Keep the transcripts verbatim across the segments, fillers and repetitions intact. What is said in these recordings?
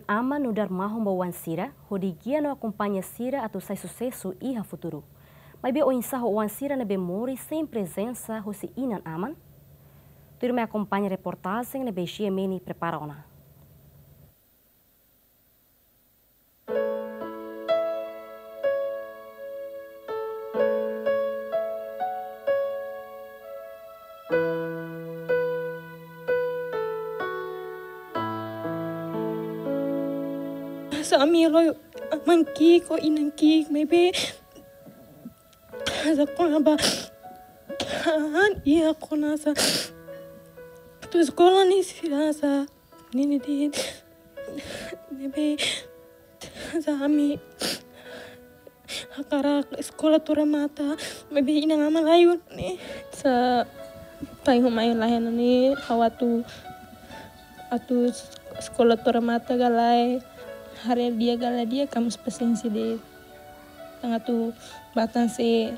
Aman nu'udar mahon ba oan sira, hodi gia no akompaña sira atu sai susesu iha futuru. Maibé oinsá ho oan sira ne'ebé moris sein prezensa husi inan-aman? Tuirmai akompaña reportajen ne'ebé G M N prepara ona. Sá ami loi aman ki'ik ho inan ki'ik, maibé sá kona-ba han iha kona sá atu eskola ne'e sira sá nini di ne'ebé sá ami hakarak eskola to'o remata, maibé inan-aman laiha ne'e. Sá pai ho mai laiha ne'e, ha'u atu, atu eskola to'o remata ka lae, haree di'ak ka lae di'ak, kamus pasiénsia de'it. Tan atu batan sé.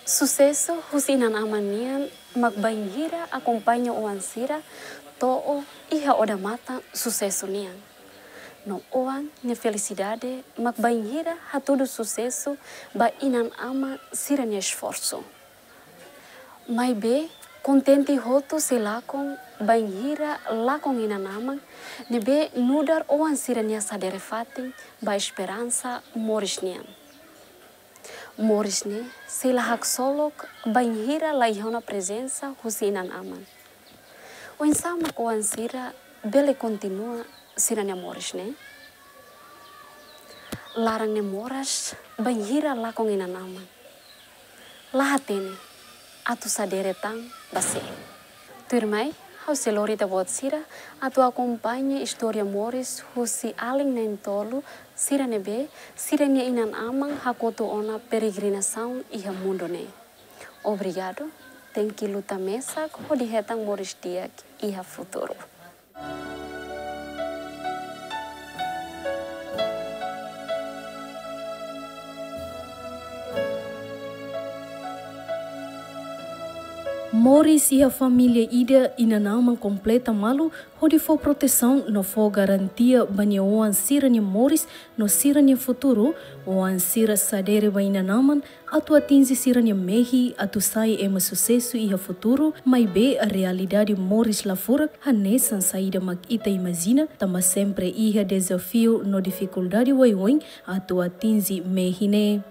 Susesu husi inan-aman nian mak bainhira akompaña oan sira to'o iha odamatan susesu nian. No oan nia felisidade mak bainhira hatudu susesu ba inan-aman sira-nia esforsu. Maibé kontente hotu sei lakon bainhira lakon inan-aman ne'ebé nu'udar oan sira-nia sadere fatin ba esperansa moris nian. Moris ne'e sei la haksolok bainhira laiha ona prezensa husi inan-aman. Oinsá mak oan sira bele kontinua sira-nia moris ne'e? Laran ne'e moras bainhira lakon inan-aman. La hatene atu sadere tan ba sé. Tuirmai, ha'u sei lori ita-boot sira atu akompaña istória moris husi alin na'in-tolu sira ne'ebé sira-nia inan-aman hakotu ona peregrinasaun iha mundu ne'e. Obrigadu, tenke luta mesak hodi hetan moris di'ak iha futuru. Moris iha família ida, inan-aman kompleta malu hodi fó protesaun no fó garantia ba nia oan sira-nia moris no sira-nia futuru. Oan sira sadere ba inan-aman atu atinje sira-nia mehi atu sai ema susesu iha futuru, maibé realidade moris la furak hanesan saida mak ita imajina, tanba sempre iha dezafiu no difikuldade oioin atu atinje mehi ne'e.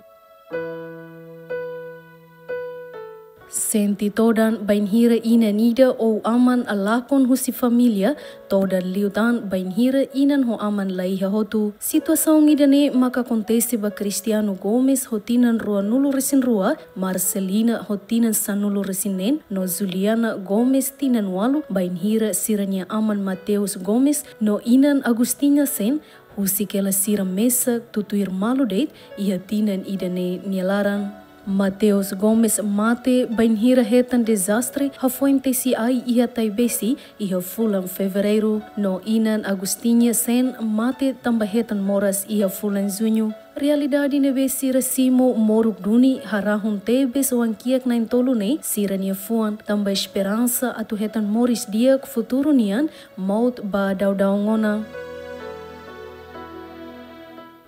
Sente todan bainhira inan ida ou aman lakon husi família, todan liután bainhira inan ho aman laiha hotu. Situasaun ida-ne'e maka akontese ba Cristiano Gomes ho tinan ruanulu-resin-rua, Marcelina ho tinan sanulu-resin-neen, no Juliana Gomes tinan ualu, bainhira sira-nia aman Mateus Gomes no inan Agustinha Sen, husik hela sira mesak tutuir malu de'it iha tinan ida-ne'e nia laran. Mateus Gomes mate bainhira hetan dezastre hafoin tesi ai iha Taibesi iha fulan Fevereiru, no inan Agustinha Sen mate tanba hetan moras iha fulan Juñu. Realidade ne'ebé sira simu moruk duni harahun tebes oan kiak na'in-tolu ne'e sira-nia fuan, tanba esperansa atu hetan moris di'ak futuru nian maut ba daudaun ona.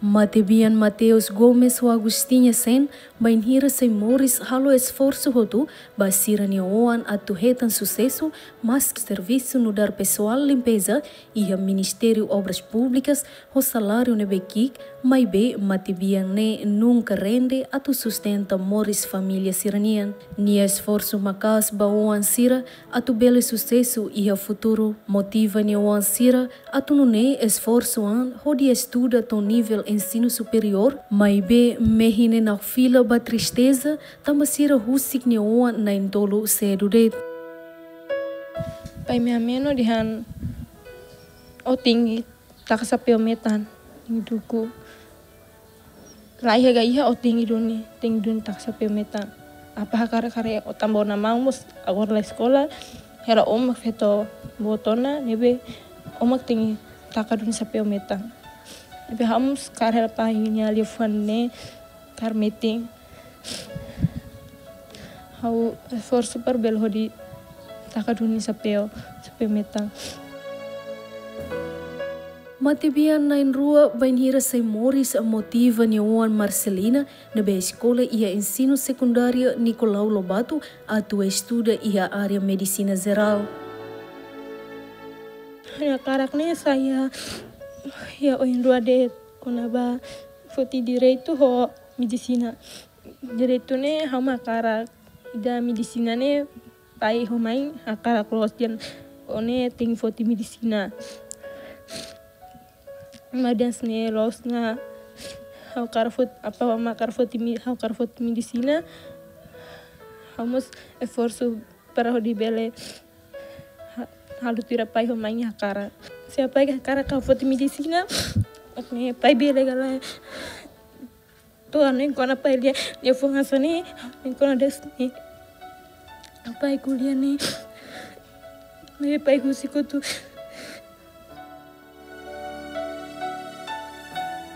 Matebian Mateus Gomes ho Agustinha Sen bainhira sei moris halo esforsu hotu ba sira-nia oan atu hetan susesu, maski servisu nu'udar pesoál limpeza iha Ministériu Obras Públikas ho saláriu ne'ebé ki'ik, maibé matebian ne'e nunka rende atu sustenta moris família sira-nian. Nia esforsu maka'as ba oan sira atu bele susesu iha futuru. Motiva nia oan sira atu nune'e esforsu an hodi estuda to'o nivel ensinu superiór, maibé mehi ne'e nakfila ba tristeza, tanba sira husik nia oan na'in-tolu sedu de'it. Pai meha meno dehan, ó tenke taka xapeu metan, tenke duku. Laiha ka iha, ó tenke duni, tenke duni taka xapeu metan. Apá hakarak karik ó tanba ó na'an maun mós agora la eskola, hela ó mak feto boot ona, ne'ebé ó mak tenke taka duni xapeu metan. Ne'ebé ha'u mós kaer hela pai nia liafuan ne'e, kaer metin. Ha'u esforsu para bele hodi taka duni xapeu, xapeu metan. Matebian na'in-rua bainhira sai moris motiva nia oan Marcelina, ne'ebé eskola iha ensinu sekundáriu Nicolau Lobato atu estuda iha área medisina jerál. Ha'u-nia hakarak ne'e sai iha, iha oin rua de'it, kona-ba foti direitu ho medisina. Direitu ne'e ha'u mak hakarak, ida medisina ne'e pai ho mãe hakarak loos dehan ó ne'e tenke foti medisina. Maibé hanesan ne'e loos ona, ha'u hakarak fot-, apá mak hakarak foti me-, ha'u hakarak foti medisina. Ha'u mós esforsu para hodi bele ha-, halo tuir pai ho mãe nia hakarak. Se apá hakarak ha'u foti medisina, mak ne'e pai bele ka lae. To'o ha'u hanoin kona-ba pai lia, nia fó hanesan ne'e, ha'u hanoin kona-ba de'it ne'e. Pai ko'alia ne'e, maibé pai husik hotu.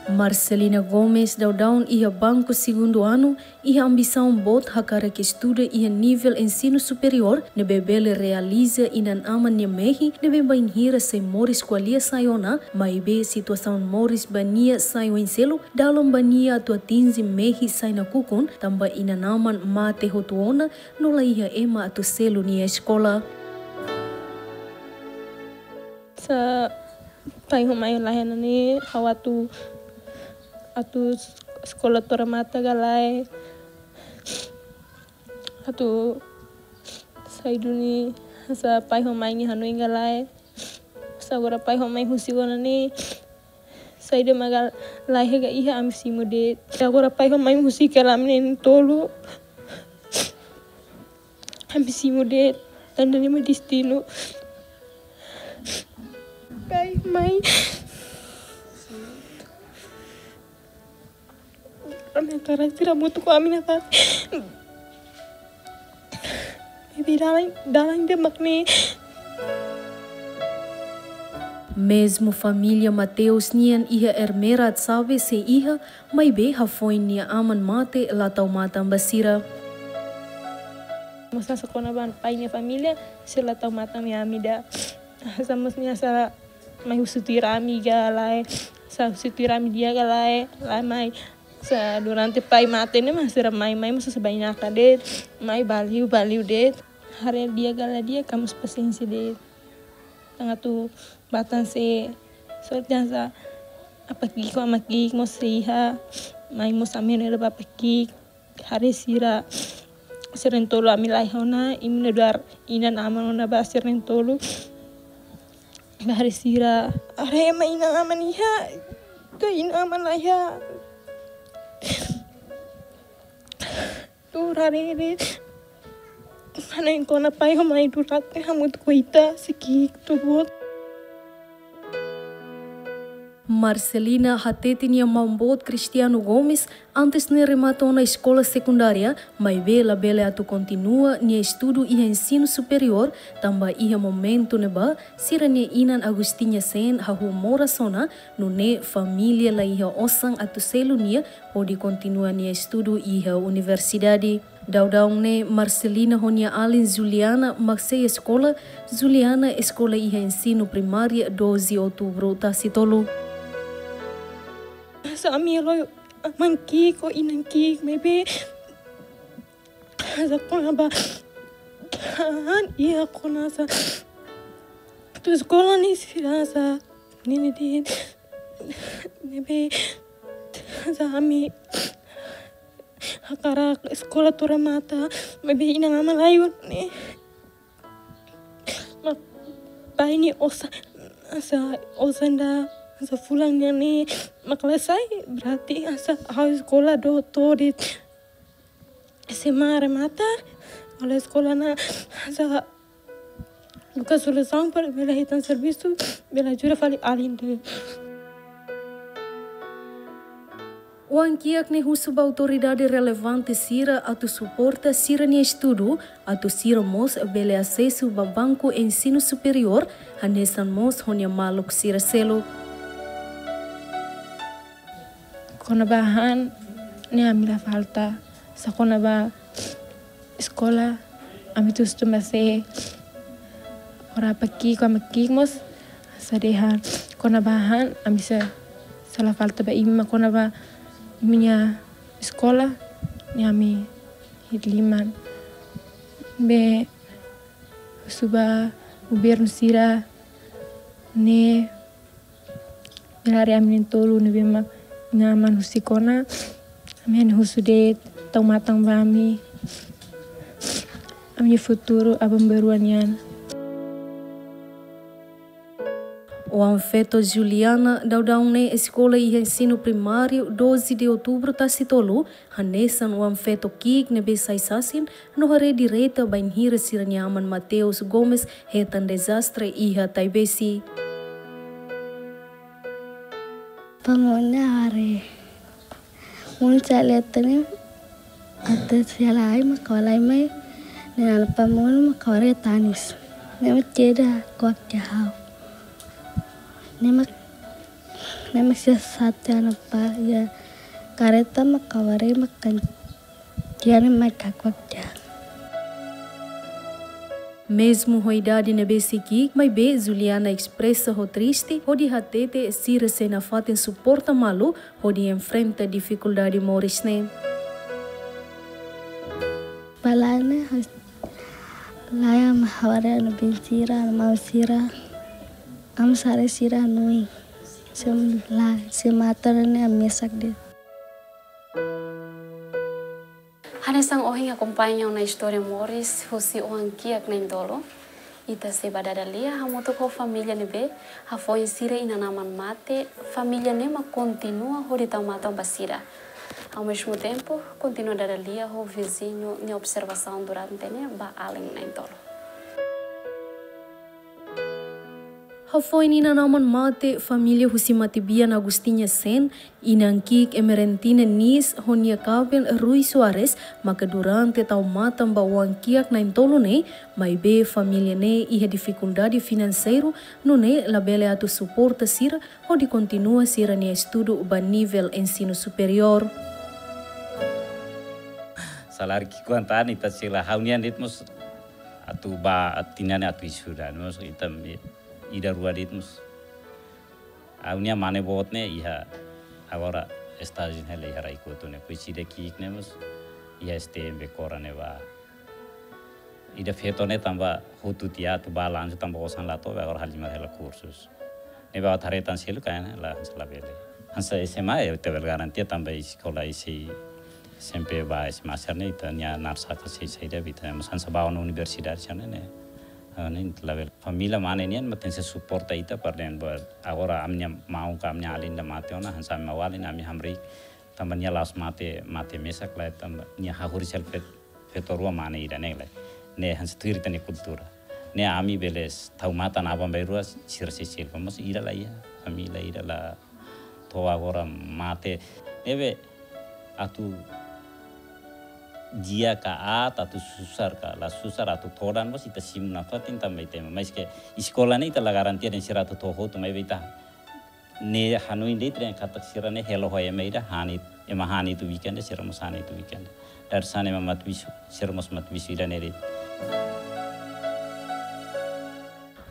Marcelina Gomes daudaun iha banku segundu anu, iha ambisaun boot hakarak estuda iha nivel ensinu superiór, ne'ebé bele realiza inan-aman nia mehi, ne'ebé bainhira sai moris ko'alia sai ona, maibé situasaun moris ba nia sai oin seluk, dalan ba nia atu atinje mehi sai nakukun, tanba inan-aman mate hotu ona, no la iha ema atu selu nia eskola. Se pai ho mãe laiha ona ne'e, ha'u atu, atu eskola to'o remata ka lae. Atu sai duni hanesan pai ho mãe nia hanoin ka lae. Se agora pai ho mãe husik ona ne'e, saida mak ka lae ka iha ami simu de'it. Se agora pai ho mãe husik hela ami na'in-tolu, ami simu de'it, tanba ne'e mak destinu. Pai, mãe. Ami hakarak sira hamutuk ho ami nafatin. Bibi dalan, dalan ida mak ne'e. Mezmu família Mateus nian iha Ermera Atsabe sei iha, maibé hafoin nia aman mate la tau matan ba sira. Mós hanesan kona-ba pai nia família, sira la tau matan mai ami ida. Hanesan mós nia hanesan mai husu tuir ami ka lae, hanesan husu tuir ami di'ak ka lae, lae mai. Hanesan durante pai mate ne'e mak sira mai, mai mós hanesan bainaka de'it, mai ba liu, ba liu de'it. Haree di'ak ka lae di'ak, ka mós pasiénsia de'it. Tanga tu batan se, sorte hanesan apá ki'ik ho amá ki'ik mós sei iha, mai mós ami ne'e ba apá ki'ik. Haree sira, sira na'in-tolu ami laiha ona, imi nu'udar inan-aman ona ba sira na'in-tolu. Ba haree sira, haree ema inan-aman iha, ka inan-aman laiha. Tuur haree de'it. Hanoin kona-ba pai ho mãe durante hamutuk ho ita, sei ki'ik tuur boot. Marcelina hatete nia maun boot Cristiano Gomes, antes ne'e remata ona eskola sekundária, maibé labele atu kontinua nia estudu iha ensinu superiór, tanba iha momentu ne'ebá, sira-nia inan Agostinha Sen hahú moras ona, nune'e família la iha osan atu selu nia, hodi kontinua nia estudu iha universidade. Daudaun ne'e Marcelina ho nia alin Juliana mak sei eskola, Juliana eskola iha ensinu primária Doze Outubro Tasitolu. Hanesan ami laiha aman ki'ik ho inan ki'ik, maibé hanesan kona-ba han iha kona hanesan atu eskola ne'e sira hanesan ne'e de'it. Maibé hanesan ami hakarak eskola to'o remata, maibé inan-aman laiha ona ne'e. Mak pai nia osan, hanesan osan ida, hanesan fulan nian ne'e mak la sai, berarti hanesan ha'u eskola to'o, to'o de'it S M A remata, ha'u la eskola ona, hanesan buka solusaun para bele hetan servisu, bele ajuda fali alin de'it. Oan-kiak ne'e husu ba autoridade relevante sira atu suporta sira-nia estudu, atu sira mós bele asesu ba banku ensinu superiór, hanesan mós ho nia maluk sira seluk. Kona-ba han ne'e ami la falta, só kona-ba eskola, ami atu estuda mós sei Haree ba ki'ik, ha'u-nia ki'ik mós, hanesan dehan kona-ba hahán, ami sei la falta ba imi, mak kona-ba imi-nia eskola, ne'e ami iha liman. Ne'ebé husu ba governu sira ne'e, bele haree ami na'in-tolu ne'ebé mak inan-aman husik ona. Ami hanya husu de'it tau matan ba ami, ami-nia futuru aban-bainrua nian. Oan-feto Juliana daudaun ne'e eskola iha ensinu primáriu Doze de Outubro Tasitolu, hanesan oan-feto ki'ik ne'ebé sai sasin no haree direta bainhira sira-nia aman Mateus Gomes hetan dezastre iha Taibesi. Pamone are. Mun sa leten ne'e, atu sela ai mak ha'u halai mai, ne'e ha'u-nia pamone mak ha'u haree tanis. Ne'e mak tiha ida kuak tiha ha'u. Ne'e mak, ne'e mak sira satu anak pa, iha kareta mak ha'u haree mak kan tiha ne'e mak kuak tiha. Mezmu ho idade ne'ebé sei ki'ik, maibé Juliana espresa ho triste hodi hatete sira sei nafatin suporta malu hodi enfrenta difikuldade moris ne'e. Balane has-, laya mak ha'u haree ha'u-nia biin sira, ha'u-nia maun sira. Ami sare sira nui. Sem la, sem ator ne ami mesak de'it. Hanesan ohin akompaña ona istória moris husi oan kiak na'in-tolu. Ita sei ba dada lia hamutuk ho família ne'ebé hafoin sira inan-aman mate, família ne'e mak kontinua hodi tau matan ba sira. Ao mesmo tempo, kontinua dada lia ho viziñu nia observasaun durante ne'e ba alin na'in-tolu. Hafoin inan-aman mate, família husi matebian Agustina Sen, inan ki'ik Emerentina Nis ho nia kaben Rui Soares, maka durante tau matan ba oan kiak na'in-tolu ne'e, maibé família ne'e iha difikuldade finanseiru, nune'e labele atu suporta sira hodi kontinua sira-nia estudu ba nivel ensinu superiór. Saláriu ki'ik kuandu ita sela ha'u-nian de'it mós atu ba tinan ne'e atu estuda, mós ita ida rua de'it mós. Ha'u-nia mane boot ne'e iha agora estájiu hela iha Rai-Koto ne'e. Depois ida ki'ik ne'e mós iha S T M Becora ne'ebá. Ida feto ne'e tanba hotu tiha atu ba lanjut tanba osan la to'o, agora halimar hela kursus. Ne'ebé atu haree tan seluk kain la, hanesan labele. Hanesan S M A ita bele garantia tanba eskola isi S M P ba S M A sira-ne'e ita-nia naran saka sei saida ba ita, mas hanesan ba ona universidade sira-ne'e. Ne'e labele. Família mane nian mak tenke suporta ita para den ba agora ami-nia maun ka ami-nia alin ida mate ona, hanesan ami maun-alin ami hamriik tanba nia la'ós mate, mate mesak lae tanba nia hahú sel feto, feto rua mane ida ne'e lae. Ne'e hanesan tuir ita-nia kultura. Ne'e ami bele tau matan aban-bainrua sira sei seluk. Mas ida la iha, família ida la to'o agora mate. Ne'ebé atu di'ak ka aat, atu susar ka la susar, atu todan mós ita simu nafatin tanba ita ema. Maske eskola ne'e ita la garantia dehan sira atu to'o hotu, maibé ita ne'e hanoin de'it dehan katak sira ne'e hela ho ema ida, han it-, ema han uitoan weekend, sira mós han uitoan weekend. Dadeer-saan ema matabixu, sira mós matabixu ida ne'e de'it.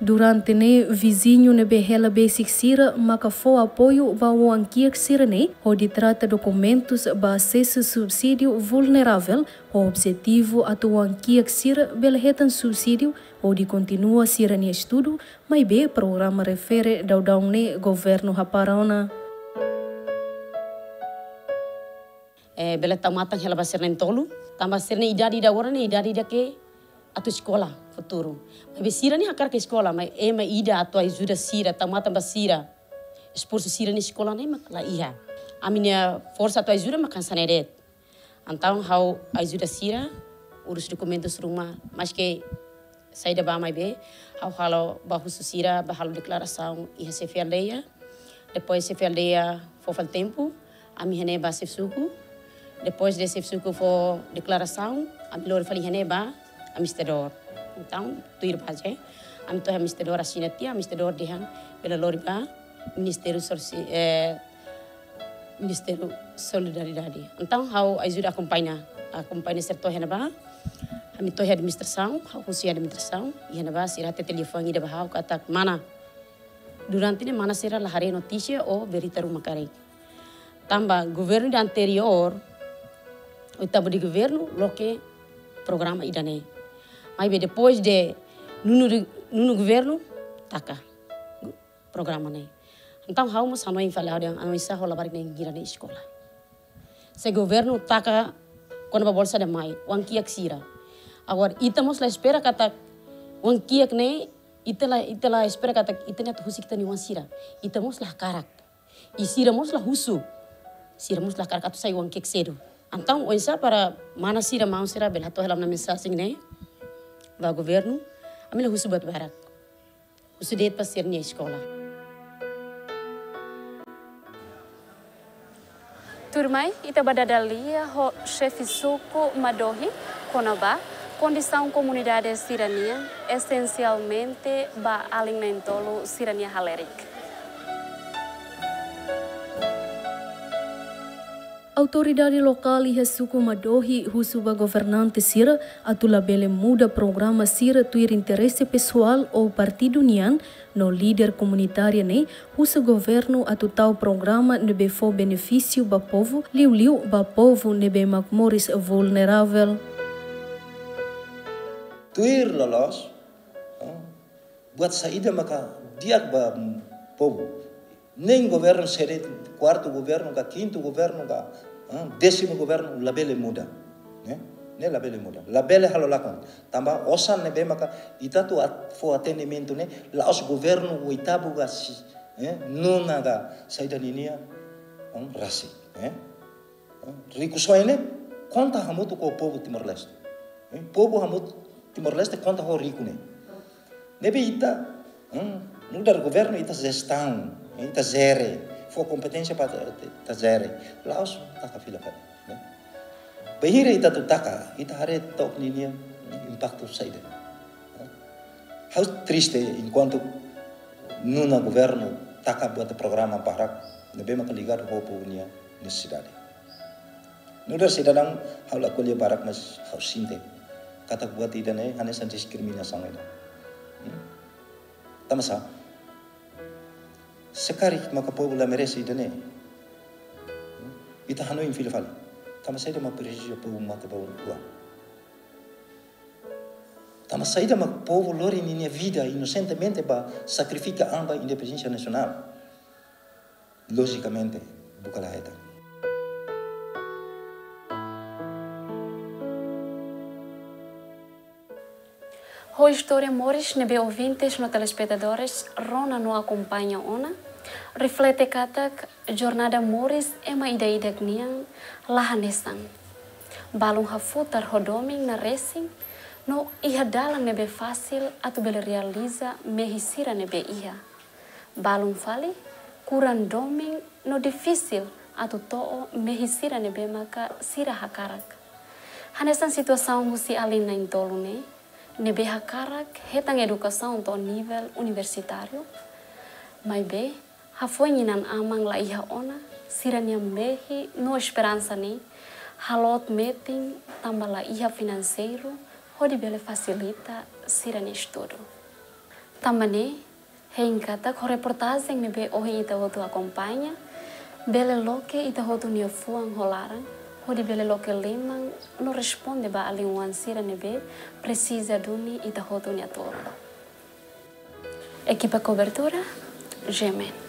Durante ne'e viziñu ne'ebé hela besik sira maka fó apoiu ba oan kiak sira-ne'e hodi trata dokumentus ba asesu subsídiu vulneravel, ho objetivu atu oan kiak sira bele hetan subsídiu hodi kontinua sira-nia estudu, maibé programa refere daudaun ne'e governu hapara ona. Eh, bele tau matan hela ba sira na'in-tolu, tanba sira-nia idade ida agora ne'e idade ida ke atu eskola futuru. Maibé sira ne'e hakarak eskola, maibé ema ida atu ajuda sira, tau matan ba sira, esforsu sira-nia eskola ne'e mak la iha. Ami-nia forsa atu ajuda mak hanesan ne'e de'it. Entaun ha'u ajuda sira urus dokumentus ruma, maske saida ba maibé, ha'u halo ba husu sira, ba halo deklarasaun iha xefe aldeia. Depois xefe aldeia fó fali tempu, ami iha ne'e ba xefe suku. Depois de xefe suku fó deklarasaun, ami lori fali iha ne'e ba administradór. Entaun tuir baze, ami to'o iha administradór asina tiha, administradór dehan bele lori ba Ministériu Sosi-, eh, Ministériu Solidariedade. Entaun ha'u ajuda akompaña, akompaña sira to'o iha ne'ebá. Ami to'o iha administrasaun, husi administrasaun, iha ne'ebá sira hatete liafuan ida ba ha'u katak mana. Durante ne'e mana sira la haree notísia ou berita ruma karik. Tanba governu ida anteriór, oitavu de governu, loke programa ida-ne'e. Maibé depois de nonu de, nonu governu, taka programa ne'e. Entaun ha'u mós hanoin fali ha'u dehan, oinsá ho labarik na'in hira nia eskola. Se governu taka kona-ba bolsa de mai, oan kiak sira. Agora, ita mós la espera katak oan kiak ne'e, ita la, ita la espera katak ita-nia atu husik ita-nia oan sira. Ita mós la hakarak. I sira mós la husu. Sira mós la hakarak atu sai oan kiak sedu. Entaun, oinsá para mana sira, maun sira, bele hato'o hela ona mensajen ne'e ba governu, ami la husu buat barak. Husu de'it ba sira-nia eskola. Tuirmai, ita bá dada lia ho xefe suku Madohi, kona-ba kondisaun komunidade sira-nian, esensialmente ba alin na'in-tolu sira-nia halerik. Autoridade lokál iha suku Madohi husu ba governante sira atu labele muda programa sira tuir interese pesoál ou partidu nian, no líder komunitária ne'e husu governu atu tau programa ne'ebé fó benefísiu ba povu, liuliu ba povu ne'ebé mak moris vulneravel. Tuir loloos, eh, buat saida maka di'ak ba povu. Na'in governu sira, kuartu governu ka kintu governu ka, eh, désimu governu labele muda. Ne'e? Ne'e labele muda. Labele halo lakon. Tanba osan ne'ebé maka ita atu at-, fó atendimentu ne'e, la'ós governu oitavu ka si-, eh, nonu ka saida ninia, eh, rasik, eh. Rikusoin ne'e konta hamutuk ho povu Timor-Leste. Eh, povu hamutuk Timor-Leste konta ho riku ne'e. Ne'ebé ita, hmm, nu'udar governu ita jestaun, ita jere, fó kompeténsia para ita jere. La'ós taka fila fali, ne'e. Bainhira ita atu taka, ita haree took ninia impaktu saida. Ha'u triste enkuantu nonu governu taka buat programa barak ne'ebé maka ligadu ho povu nia nesesidade. Nu'udar sidadaun ha'u la ko'alia barak, mas ha'u sente katak buat ida-ne'e hanesan diskriminasaun ida. Hmm? Tanba sá? Se karik maka povu la merese ida-ne'e, hmm, ita hanoin fila fali. Tanba saida mak presiza povu mate ba oan? Tanba saida mak povu lori ninia vida inosentemente ba sakrifika an ba independénsia nasionál? Lojikamente, buka la hetan. Ho istória moris ne'ebé ouvintes no telespetadores rona no akompaña ona, reflete katak jornada moris ema ida-idak nian la hanesan. Balun hafutar ho domin na resin, no iha dalan ne'ebé fasil atu bele realiza mehi sira ne'ebé iha. Balun fali, kuran domin no difisil atu to'o mehi sira ne'ebé maka sira hakarak. Hanesan situasaun husi alin na'in-tolu ne'e, ne'ebé hakarak hetan edukasaun to'o nivel universitáriu, maibé hafoin inan-aman la iha ona, sira-nia mehi no esperansa ne'e halot metin tanba la iha finanseiru hodi bele fasilita sira-nia estudu. Tanba ne'e, hein katak ho reportajen ne'ebé ohin ita hotu akompaña, bele loke ita hotu nia fuan ho laran, hodi bele loke liman no responde ba alin oan sira ne'ebé presiza duni ita hotu nia tulun. Ekipa kobertura, G M N.